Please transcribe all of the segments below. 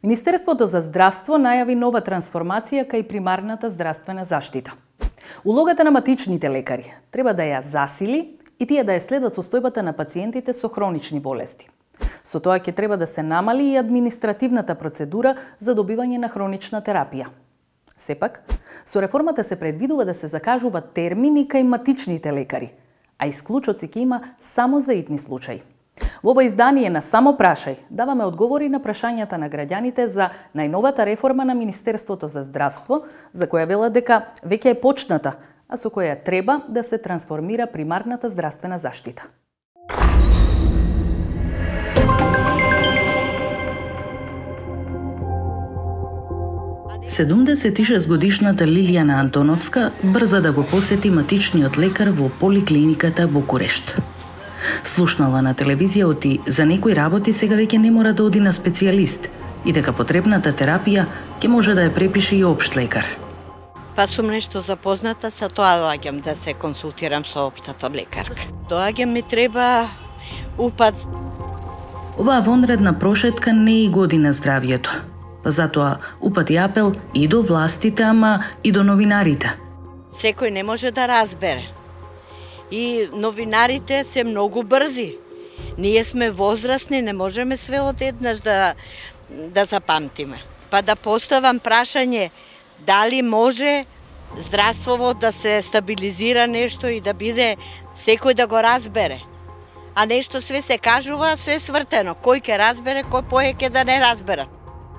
Министерството за здравство најави нова трансформација кај примарната здравствена заштита. Улогата на матичните лекари треба да ја засили и тие да ја следат состојбата на пациентите со хронични болести. Со тоа ќе треба да се намали и административната процедура за добивање на хронична терапија. Сепак, со реформата се предвидува да се закажуваат термини кај матичните лекари, а исклучоци ќе има само за итни случаи. Во ова издание на Само прашај даваме одговори на прашањата на граѓаните за најновата реформа на Министерството за здравство, за која велат дека веќе е почната, а со која треба да се трансформира примарната здравствена заштита. Седумдесетишестгодишната Лилијана Антоновска брза да го посети матичниот лекар во поликлиниката Букурешт. Слушнала на телевизија за некои работи сега веќе не мора да оди на специјалист и дека потребната терапија ќе може да ја препише и општ лекар. Па сум нешто запозната, со тоа доаѓам да се консултирам со општата лекарка. Доаѓам ми треба упат. Оваа вонредна прошетка не и годи на здравјето. Па затоа упати апел и до властите, ама и до новинарите. Секој не може да разбере. И новинарите се многу брзи. Ние сме возрастни, не можеме све одеднаш да запамтиме. Па да поставам прашање, дали може здравството да се стабилизира нешто и да биде секој да го разбере. А нешто све се кажува, све свртено. Кој ќе разбере, кој поеќе да не разберат.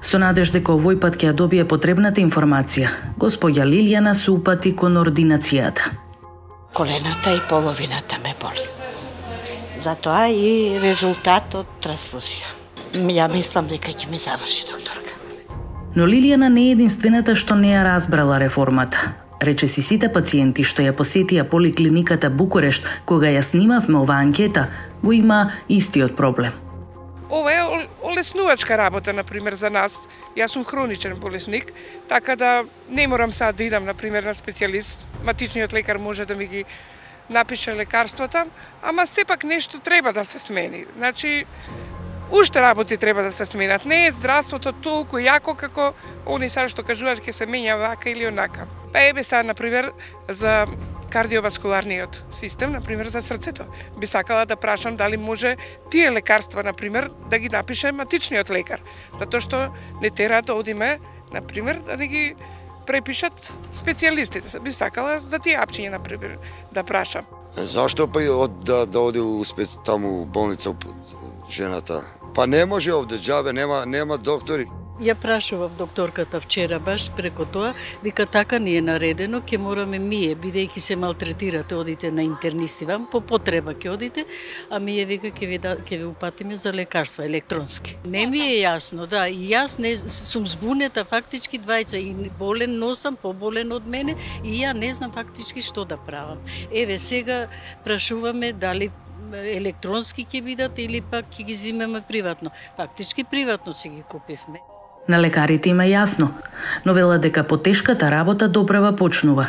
Со надеж дека овој пат ќе ја добие потребната информација, господја Лилијана се упати кон ординацијата. Колената и половината ме боли. Затоа и резултат од трансфузија. Ја мислам дека ќе ми заврши докторка. Но Лилијана не е единствената што не ја разбрала реформата. Рече си сите пациенти што ја посетија поликлиниката Букурешт кога ја снимавме оваа анкета, го има истиот проблем. Ова е олеснувачка работа, например, за нас. Јас сум хроничен болесник, така да не морам сега да идам, например, на специјалист. Матичниот лекар може да ми ги напише лекарствата, ама сепак нешто треба да се смени. Значи, уште работи треба да се сменат. Не е здравството толку јако како они сега што кажуваат ќе се менја вака или онака. Па ебе сега, например, за кардиоваскуларниот систем, например, за срцето. Би сакала да прашам дали може тие лекарства, например, да ги напише матичниот лекар. Затоа што не тера да одиме, например, да не ги препишат специјалистите. Би сакала за тие апчиња, например, да прашам. Зашто па да оди таму болница жената? Па не може овде џабе, нема доктори. Ја прашував докторката вчера баш преку тоа, вика така ни е наредено, ќе мораме ние, бидејќи се малтретирате, одите на интернисти вам, по потреба ќе одите, а ние вика ќе ви упатиме за лекарства електронски. Не ми е јасно, да, и јас не сум збунета фактички двајца и болен носам, поболен од мене и ја не знам фактички што да правам. Еве сега прашуваме дали електронски ќе бидат или пак ќе ги зимеме приватно. Фактички приватно си ги купивме. На лекарите има јасно, но велат дека потешката работа доправа почнува.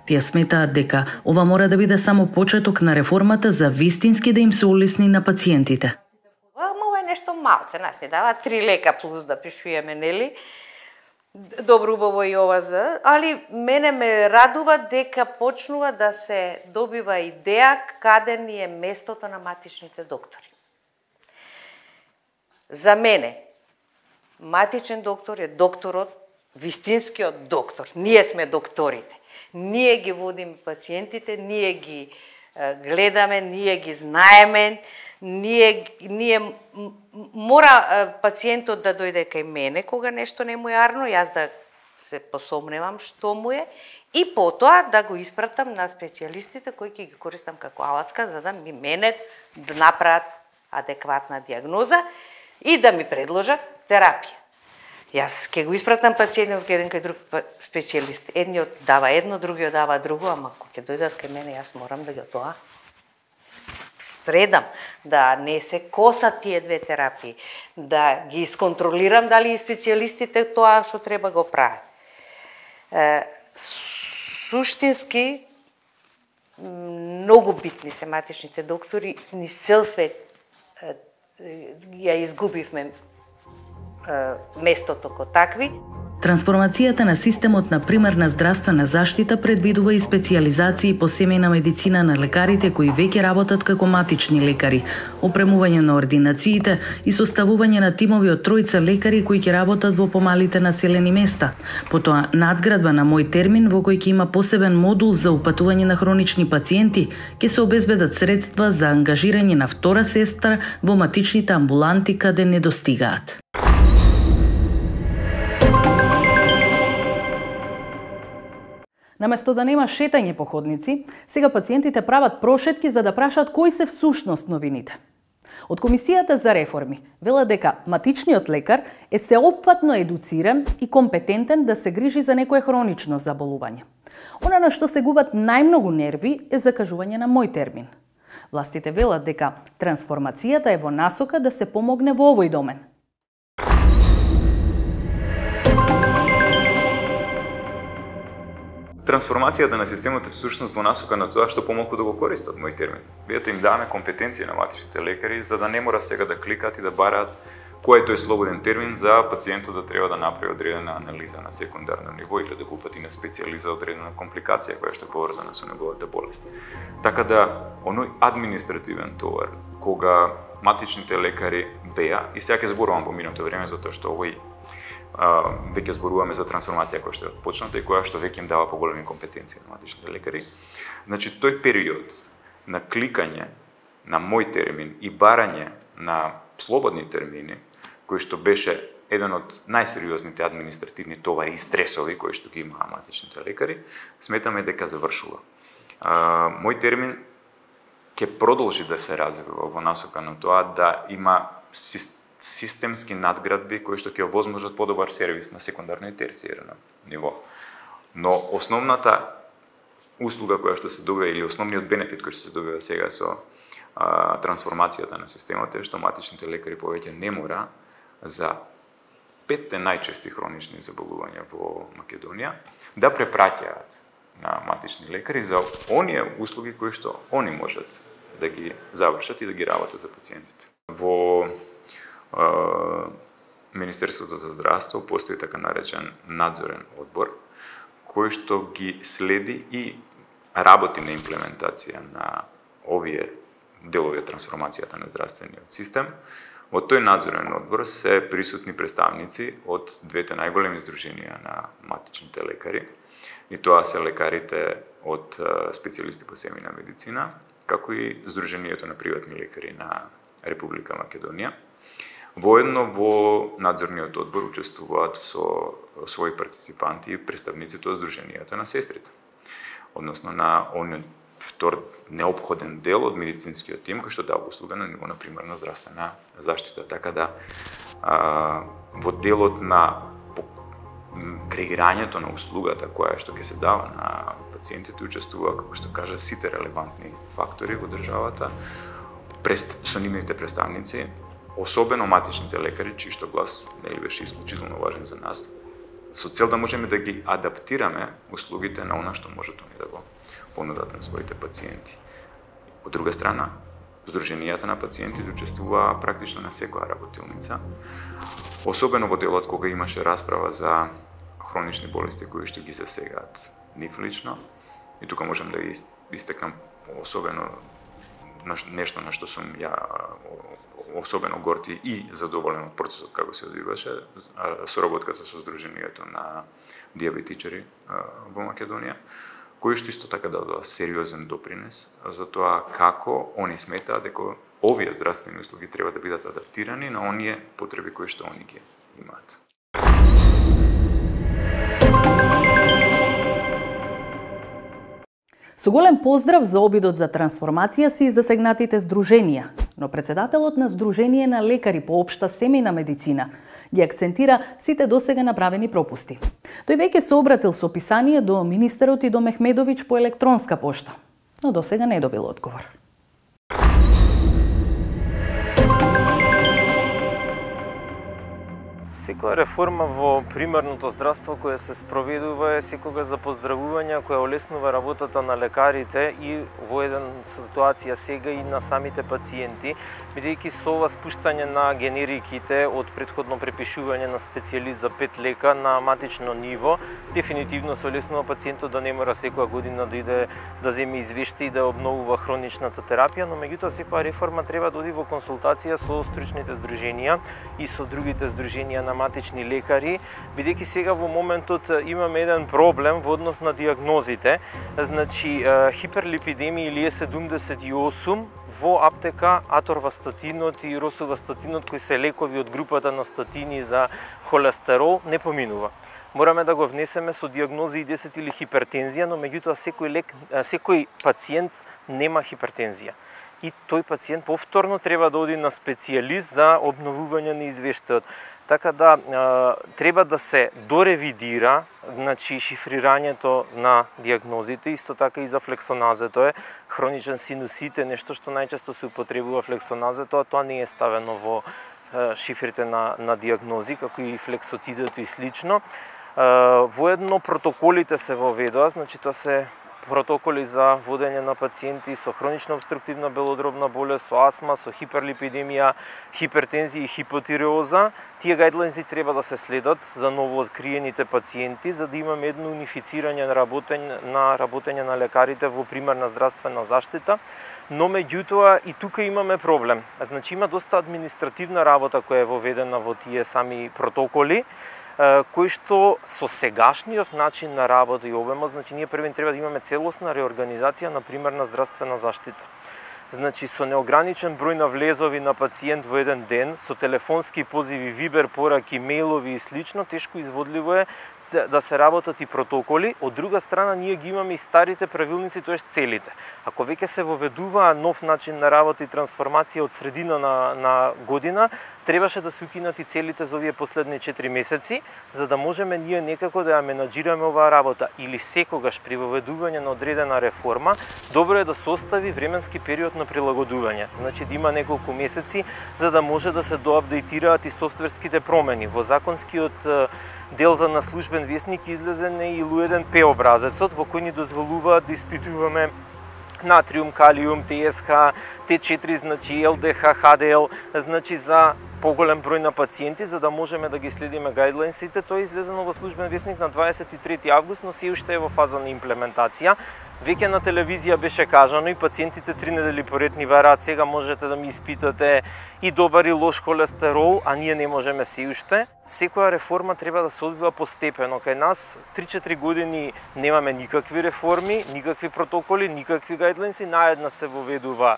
Тие сметаат дека ова мора да биде само почеток на реформата за вистински да им се улесни на пациентите. Ова е нешто малце, нас ни дава 3 лека плюс да пишуваме, нели? Добро убаво и ова за, али мене ме радува дека почнува да се добива идеја каде ни е местото на матичните доктори. За мене матичен доктор е докторот, вистинскиот доктор. Ние сме докторите. Ние ги водиме пациентите, ние ги гледаме, ние ги знаеме, ние мора пациентот да дојде кај мене кога нешто не му е арно, јас да се посомневам што му е и потоа да го испратам на специјалистите кои ќе ги користам како алатка за да ми мене да направат адекватна диагноза и да ми предложат терапија. Јас ќе го испратам пациентот кај еден кај друг специјалист. Едниот дава едно, другиот дава друго, ама кога ќе дојдат кај мене, јас морам да ги тоа средам, да не се косат тие две терапии, да ги исконтролирам дали и специјалистите тоа што треба го прават. Суштински, многу битни се матичните доктори, низ цел свет ја изгубивме местото ко такви. Трансформацијата на системот на примарна здравствена заштита предвидува и специјализации по семејна медицина на лекарите кои веќе работат како матични лекари, опремување на ординациите и составување на тимови од 3 лекари кои ќе работат во помалите населени места. Потоа надградба на мој термин во кој ќе има посебен модул за упатување на хронични пациенти, ќе се обезбедат средства за ангажирање на втора сестра во матичните амбуланти каде не достигаат. Наместо да нема шетање по ходници, сега пациентите прават прошетки за да прашат кои се всушност новините. Од Комисијата за реформи велат дека матичниот лекар е сеопфатно едуциран и компетентен да се грижи за некое хронично заболување. Она на што се губат најмногу нерви е закажување на мој термин. Властите велат дека трансформацијата е во насока да се помогне во овој домен. Трансформацијата на системот е всушност во насока на тоа што помалку да го користат мој термин. Бидете им даваме компетенција на матичните лекари за да не мора сега да кликат и да бараат кој е тој слободен термин за пациентот да треба да направи одредена анализа на секундарно ниво или да го упати на специјалист одредена компликација која што е поврзана со неговата болест. Така да оној административен товар кога матичните лекари беа, и сега ќе зборувам во минато време затоа што овој веќе зборуваме за трансформација која што е почната и која што веќе им дава поголеми компетенции на матичните лекари. Значи, тој период на кликање на мој термин и барање на слободни термини, кој што беше еден од најсериозните административни товари и стресови кои што ги имаа матичните лекари, сметаме дека завршува. Мој термин ќе продолжи да се развива во насока на тоа да има системски надградби кои што ќе овозможат подобар сервис на секундарно и терцијерно ниво. Но основната услуга која што се добива или основниот бенефит кој што се добива сега со трансформацијата на системот е што матичните лекари повеќе не мора за 5 најчести хронични заболувања во Македонија да препраќаат на матични лекари за оние услуги кои што они можат да ги завршат и да ги работат за пациентите. Во Министерството за здравство постои така наречен надзорен одбор кој што ги следи и работи на имплементација на овие делови од трансформацијата на здравствениот систем. Од тој надзорен одбор се присутни представници од двете најголеми здруженија на матичните лекари, и тоа се лекарите од специјалисти по семејна медицина, како и Здруженијето на приватни лекари на Република Македонија. Воедно во надзорниот одбор учествуваат со своји партиципанти и представниците од Здруженијата на сестрите, односно на оној втор неопходен дел од медицинскиот тим кој што дава услуга на ниво на примарна здравствена заштита. Така да во делот на креирањето на услугата која што ќе се дава на пациентите учествува, како што кажа, сите релевантни фактори во државата, со нивните представници, особено матичните лекари, чиј што глас нели беше исклучително важен за нас, со цел да можеме да ги адаптираме услугите на она што можат они да го понудат на своите пациенти. Од друга страна, Здруженијата на пациентите учествува практично на секоја работилница, особено во делот кога имаше расправа за хронични болести кои што ги засегаат нив лично. И тука можам да истекнам особено нешто на што сум ја особено горти и задоволен од процесот како се одвиваше, соработката со Здруженијето на дијабетичари во Македонија, кои што исто така дадоа сериозен допринес за тоа како они сметаат дека овие здравствени услуги треба да бидат адаптирани на оние потреби кои што они ги имаат. Со голем поздрав за обидот за трансформација се и засегнатите здруженија, но председателот на Здружение на лекари по општа семејна медицина ги акцентира сите досега направени пропусти. Тој веќе се обратил со писание до министерот и до Мехмедовиќ по електронска пошта, но досега не добил одговор. Секоја реформа во примарното здравство која се спроведува е секогаш за поздравување, која олеснува работата на лекарите и во една ситуација сега и на самите пациенти, бидејќи со ова спуштање на генериките од претходно препишување на специјалист за 5 лека на матично ниво, дефинитивно се олеснува пациентот да не мора секоја година да иде да земе извешти и да обновува хроничната терапија, но меѓутоа секоја реформа треба да оди во консултација со стручните здруженија и со другите здруженија на матични лекари, бидејќи сега во моментот имаме еден проблем во однос на диагнозите. Значи, хиперлипидемија или Е78 во аптека аторвастатинот и росувастатинот, кои се лекови од групата на статини за холестерол, не поминува. Мораме да го внесеме со диагноза и 10 или хипертензија, но меѓутоа секој пациент нема хипертензија. И тој пациент повторно треба да оди на специјалист за обновување на извештајот. Така да треба да се доревидира, значи шифрирањето на диагнозите, исто така и за флексоназето е хроничен синусит е нешто што најчесто се употребува флексоназето, а тоа не е ставено во шифрите на диагнози, како и флексотидето и слично. Воедно протоколите се воведоа, значи тоа се протоколи за водење на пациенти со хронична обструктивна белодробна болест, со астма, со хиперлипидемија, хипертензија и хипотиреоза. Тие гајдлајнзи треба да се следат за новооткриените пациенти, за да имаме едно унифицирање на работење на лекарите во примарна здравствена заштита. Но меѓутоа и тука имаме проблем. Значи има доста административна работа која е воведена во тие сами протоколи, кој што со сегашниот начин на работа и обемот, значи ние првен треба да имаме целосна реорганизација на примарна здравствена заштита. Значи со неограничен број на влезови на пациент во еден ден, со телефонски позиви, вибер пораки, мејлови и слично, тешко изводливо е да се работат и протоколи. Од друга страна, ние ги имаме и старите правилници, тоест целите. Ако веќе се воведува нов начин на работа и трансформација од средина на година, требаше да се укинат и целите за овие последни 4 месеци, за да можеме ние некако да ја менаџираме оваа работа. Или секогаш при воведување на одредена реформа, добро е да се остави временски период на прилагодување. Значи да има неколку месеци за да може да се доапдейтираат и софтверските промени. Во законскиот дел за на службен весник излезен е и Луеден П образецот во кој ни дозволуваат да испитуваме натриум, калиум, ТСХ, Т4, значи ЛДХ, ХДЛ, значи за поголем број на пациенти, за да можеме да ги следиме гајдлајнсите. Тоа е излезено во службен весник на 23 август, но се уште е во фаза на имплементација. Веќе на телевизија беше кажано и пациентите 3 недели поред ни бараат, сега можете да ми испитате и добар и лош холестерол, а ние не можеме се уште. Секоја реформа треба да се одвива постепено. Кај нас 3-4 години немаме никакви реформи, никакви протоколи, никакви гајдлајнси, наедна се воведува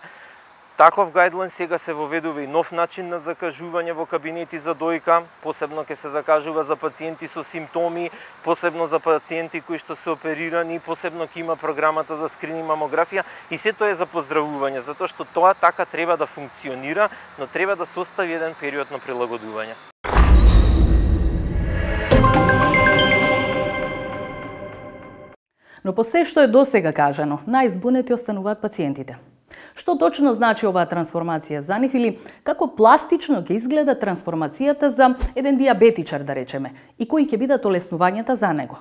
таков гајдлајн, сега се воведува и нов начин на закажување во кабинети за дојка, посебно ќе се закажува за пациенти со симптоми, посебно за пациенти кои што се оперирани, посебно ќе има програмата за скрининг мамографија и се тоа е за поздравување, затоа што тоа така треба да функционира, но треба да се остави еден период на прилагодување. Но по се што е досега кажано, најзбунети остануваат пациентите. Што точно значи оваа трансформација за нив или како пластично ќе изгледа трансформацијата за еден диабетичар, да речеме, и кои ќе бидат олеснувањата за него?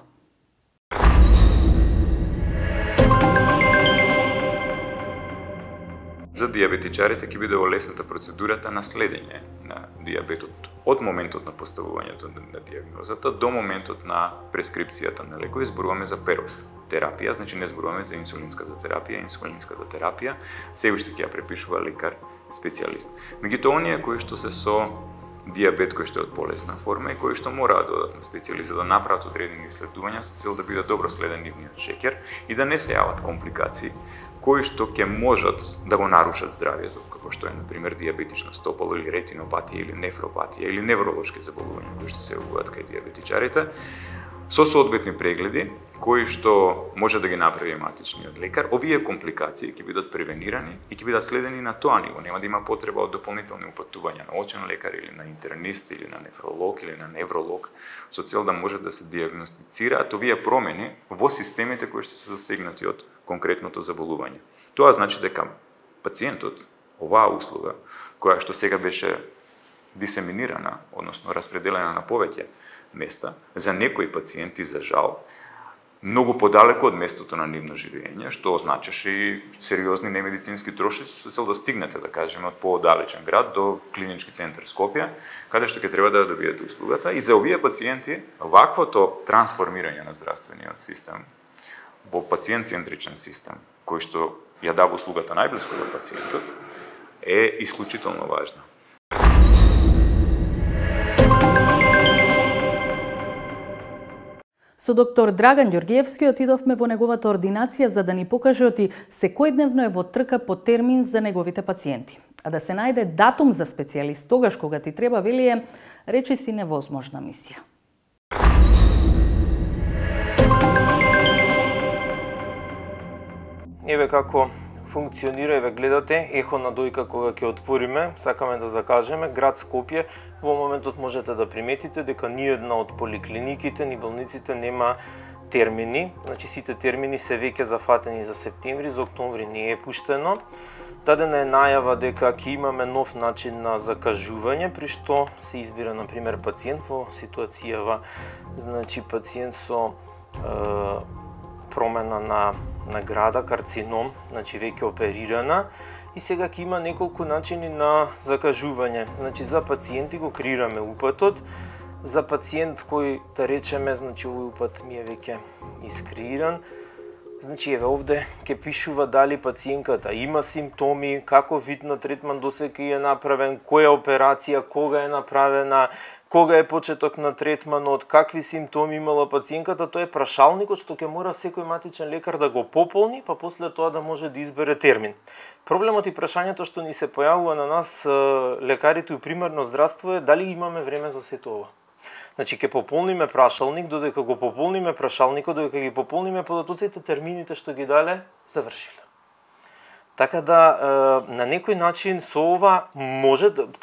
За диабетичарите ќе биде олесната процедурата на следење на диабетот од моментот на поставувањето на диагнозата до моментот на прескрипцијата на лекови. Зборуваме за перос терапија, значи не зборуваме за инсулинската терапија. Инсулинската терапија се уште ќе ја препишува лекар специјалист. Меѓутоа оние кои што се со диабет кој што е од полесна форма и кои што мораат да одат на специјалист за да направат одредени исследувања со цел да биде добро следен нивниот шеќер и да не се јават компликации кои што ќе можат да го нарушат здравјето, како што е, например, диабетично стопало или ретинопатија или нефропатија или невролошки заболувања кои што се јавуваат кај диабетичарите, со соодветни прегледи кои што може да ги направи матичниот лекар. Овие компликации ќе бидат превенирани и ќе бидат следени на тоа ниво. Нема да има потреба од дополнителни упатувања на очен лекар или на интернист или на нефролог или на невролог со цел да може да се диагностицираат овие промени во системите кои што се засегнати од конкретното заболување. Тоа значи дека пациентот оваа услуга која што сега беше дисеминирана, односно распределена на повеќе места, за некои пациенти, за жал, многу подалеку од местото на нивно живење, што означаше и сериозни немедицински трошоци со цел да стигнете, да кажеме, од поодалечен град до клинички центар Скопје, каде што ќе треба да добиете услугата. И за овие пациенти, ваквото трансформирање на здравствениот систем во пациент-центричен систем, кој што ја дава услугата најблиску до пациентот, е исклучително важно. Со доктор Драган Ѓоргиевски отидовме во неговата ординација за да ни покаже оти секојдневно е во трка по термин за неговите пациенти. А да се најде датум за специјалист тогаш кога ти треба, вели, е речиси невозможна мисија. Еве како функционира, еве гледате, ехо на дојка кога ќе отвориме, сакаме да закажеме, град Скопје, во моментот можете да приметите дека ни една од поликлиниките, ни болниците нема термини, значи сите термини се веќе зафатени за септември, за октомври не е пуштено. Дадена е најава дека ќе имаме нов начин на закажување, при што се избира, например, пациент во ситуацијава, значи пациент со промена на града, карцином, значи веќе оперирана, и сега ќе има неколку начини на закажување. Значи за пациенти го креираме упатот, за пациент кој, да речеме, значи овој упат ми е веќе искреиран, значи еве овде ќе пишува дали пациентката има симптоми, каков вид на третман досега е направен, која операција, кога е направена, кога е почеток на третманот, какви симптоми имала пациентката, тоа е прашалникот што ќе мора секој матичен лекар да го пополни, па после тоа да може да избере термин. Проблемот и прашањето што ни се појавува на нас лекарите у примарно здравство е дали имаме време за сето ова. Значи ќе пополниме прашалник, додека го пополниме прашалникот, додека ги пополниме податоците, термините што ги дале завршиле. Така да на некој начин со ова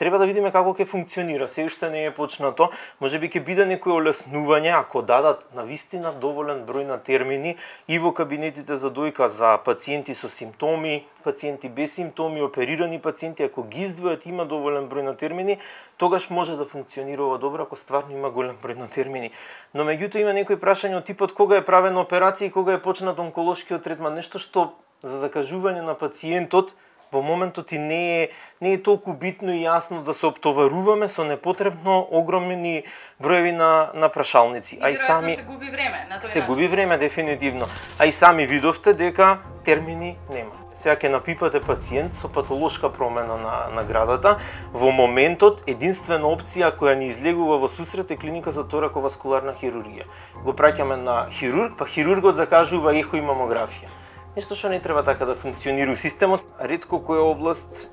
треба да видиме како ќе функционира. Се уште не е почнато, можеби ќе биде некој олеснување ако дадат навистина доволен број на термини и во кабинетите за дојка за пациенти со симптоми, пациенти без симптоми, оперирани пациенти, ако ги издвојат има доволен број на термини, тогаш може да функционира ова добро ако стварно има голем број на термини. Но меѓутоа има некои прашања од типот кога е правена операција и кога е почнат онколошкиот третман, нешто што за закажување на пациентот во моментот и не е толку битно и јасно да се оптоваруваме со непотребно огромни броеви на прашалници. И сами се губи време на тој начин. Се губи време дефинитивно. А и сами видовте дека термини нема. Сега ќе напипате пациент со патолошка промена на градата. Во моментот единствена опција која ни излегува во сусрет е клиника за тораковаскуларна хирургија. Го праќаме на хирург, па хирургот закажува ехо и мамографија. Нешто што не треба така да функционира системот. Ретко која област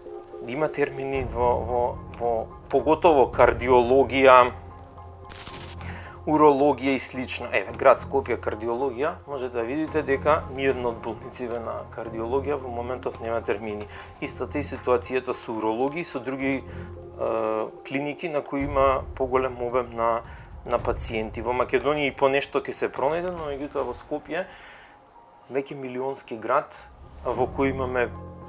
има термини во поготово кардиологија, урологија и слично. Еве, град Скопје кардиологија, можете да видите дека ниедна од болниците на кардиологија во моментов нема термини. Истата е ситуацијата со урологија и со други клиники на кои има поголем обем на пациенти. Во Македонија и по нешто ќе се пронајде, но меѓутоа во Скопје веќе милионски град во кој имаме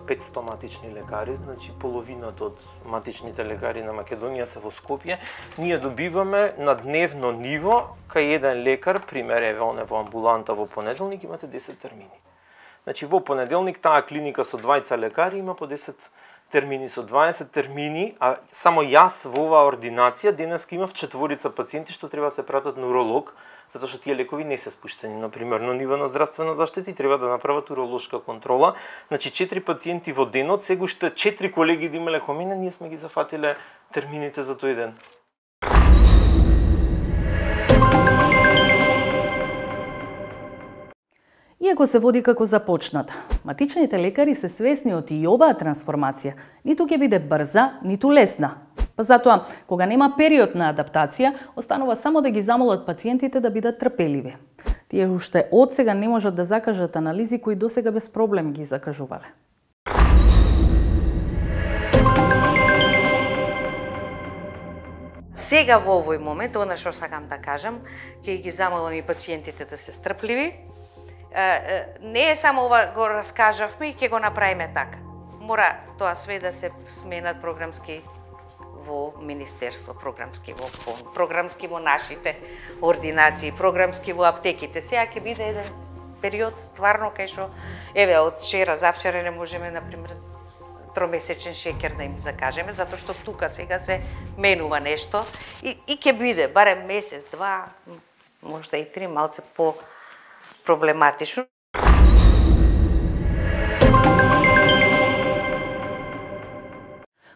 500 матични лекари, значи половината од матичните лекари на Македонија се во Скопје, ние добиваме на дневно ниво кај еден лекар, пример еве оне во амбуланта во понеделник имате 10 термини. Значи во понеделник таа клиника со 20 лекари има по 10 термини, со 20 термини, а само јас во оваа ординација денеска имав 4 пациенти што треба да се пратат на уролог, затоа што тие лекови не се спуштени на примерно ниво на здравствена заштита и треба да направат уролошка контрола. Значи 4 пациенти во денот, сега уште 4 колеги да имале кон мене, ние сме ги зафатиле термините за тој ден. Иако се води како започната, матичните лекари се свесни од и оваа трансформација, ниту ќе биде брза, ниту лесна. Па затоа, кога нема период на адаптација, останува само да ги замолат пациентите да бидат трпеливи. Тие уште од сега не можат да закажат анализи кои досега без проблем ги закажувале. Сега во овој момент, она што сакам да кажам, ќе ги замолам и пациентите да се стрпливи. Не е само ова го раскажавме и ќе го направиме така. Мора тоа све да се сменат програмски во Министерство, програмски во фонд, програмски во нашите ординации, програмски во аптеките. Сега ќе биде еден период стварно кај што еве од вчера завчера не можеме на пример тромесечен шеќер да им закажеме затоа што тука сега се менува нешто и ќе биде барем месец, два, можда и три малце по проблематично.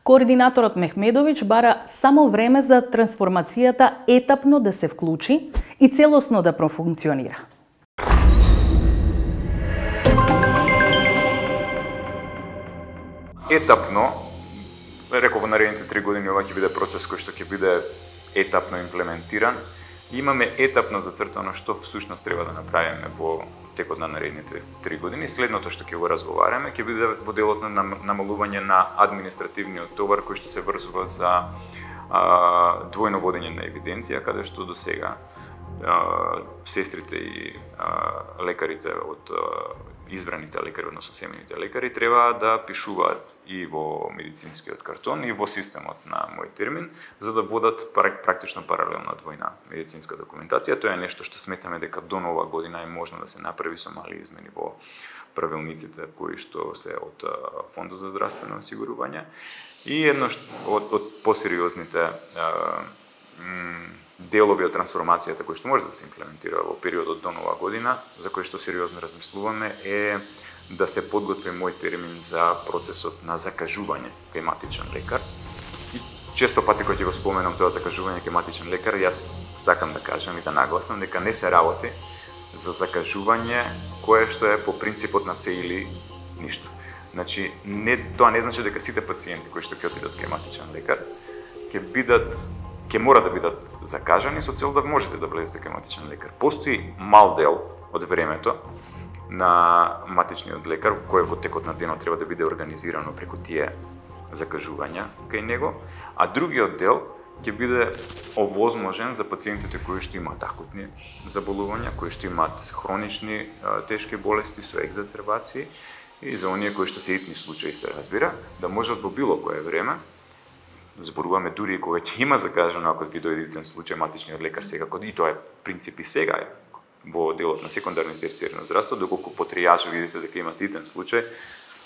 Координаторот Мехмедовиќ бара само време за трансформацијата етапно да се вклучи и целосно да профункционира. Етапно, реков во наредните 3 години, ова ќе биде процес кој што ќе биде етапно имплементиран. Имаме етапно зацртано што всушност треба да направиме во текот на наредните 3 години. Следното што ќе го разговараме ќе биде во делот на намалување на административниот товар кој што се врзува за двојно водење на евиденција, каде што до сега сестрите и лекарите од избраните лекари, односно семејните лекари, треба да пишуваат и во медицинскиот картон и во системот на мој термин, за да водат практично паралелна двојна медицинска документација. Тоа е нешто што сметаме дека до нова година е можно да се направи со мали измени во правилниците кои што се од Фондот за здравствено осигурување. И едно од посериозните делови од трансформацијата кои што може да се имплементира во периодот до нова година, за кој што сериозно размислуваме, е да се подготви мој термин за процесот на закажување кај матичен лекар. И често пати кога ќе го споменам тоа закажување кај матичен лекар, јас сакам да кажам и да нагласам дека не се работи за закажување кое што е по принципот на се или ништо. Значи, тоа не значи дека сите пациенти кои што ќе отидат кај матичен лекар ќе мора да бидат закажани со цел да можете да влезете кај матичен лекар. Постои мал дел од времето на матичниот лекар кој во текот на денот треба да биде организирано преку тие закажувања кај него, а другиот дел ќе биде овозможен за пациентите кои што имаат акутни заболувања, кои што имаат хронични тешки болести со екзацербации и за оние кои што се итни случаи се разбира, да можат во било кое време, зборуваме дури кога ќе има закажано, ако ви дојде итен случај, матичниот лекар секако, и тоа е принцип и сега е во делот на секундарно и терцијерно здравство, доколку по тријаж видите дека има итен случај,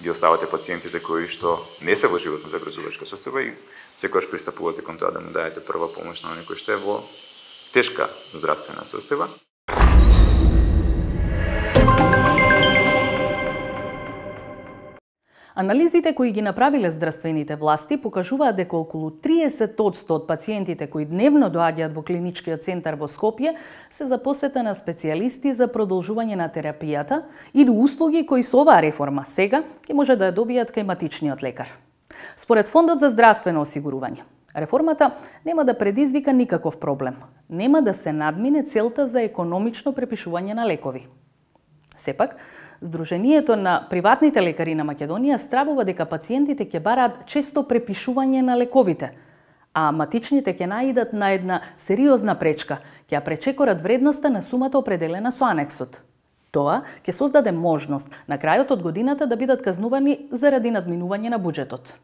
ги оставате пациентите кои што не се во животно загрозувачка состојба и секогаш пристапувате кон тоа да му даете прва помош на некој што е во тешка здравствена состојба. Анализите кои ги направиле здравствените власти покажуваат дека околу 30% од пациентите кои дневно доаѓаат во клиничкиот центар во Скопје се за посета на специјалисти за продолжување на терапијата или услуги кои со оваа реформа сега ќе може да ја добијат кај матичниот лекар. Според Фондот за здравствено осигурување, реформата нема да предизвика никаков проблем. Нема да се надмине целта за економично препишување на лекови. Сепак, Сдруженијето на приватните лекари на Македонија стравува дека пациентите ќе бараат често препишување на лековите, а матичните ќе наидат на една сериозна пречка, ќе ја пречекорат вредноста на сумата определена со анексот. Тоа ќе создаде можност на крајот од годината да бидат казнувани заради надминување на буџетот.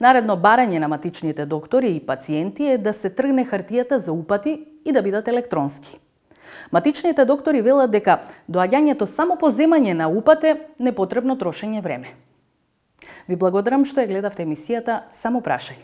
Наредно барање на матичните доктори и пациенти е да се тргне хартијата за упати и да бидат електронски. Матичните доктори велат дека доаѓањето само по земање на упат е непотребно трошење време. Ви благодарам што ја гледавте емисијата Само прашај.